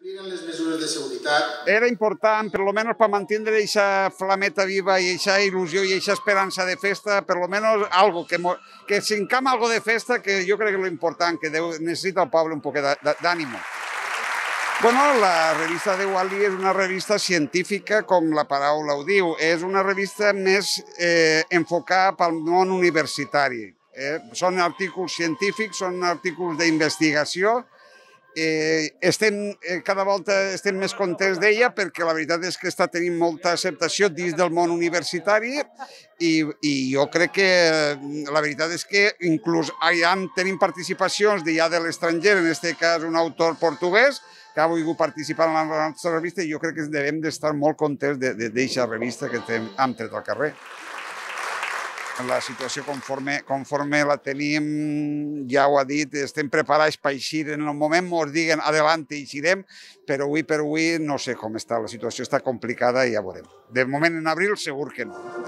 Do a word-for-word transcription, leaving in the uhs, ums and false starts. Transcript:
Eren les mesures de seguretat. Era important, per lo menos per mantenir aquesta flameta viva i aquesta il·lusió i aquesta esperança de festa, per lo menos algo, que, que s'encama algo de festa, que jo crec que és lo important, que deu, necessita el poble un poc d'ànimo. Bueno, la revista de Wall-E és una revista científica, com la paraula ho diu. És una revista més eh, enfocada pel món universitari. Eh? Són artículs científics, són artículs d'investigació. Eh, estem, eh, cada volta estem més contents d'ella perquè la veritat és que està tenint molta acceptació dins del món universitari i, i jo crec que la veritat és que inclús ja tenim participacions de, ja de l'estranger, en aquest cas un autor portuguès que ha volgut participar en la nostra revista i jo crec que devem d'estar molt contents d'aquesta revista que hem tret al carrer. La situació conforme, conforme la tenim, ja ho ha dit, estem preparats per eixir. En el moment ens diguen adelante eixirem, però avui per avui no sé com està. La situació està complicada i ja veurem. De moment en abril segur que no.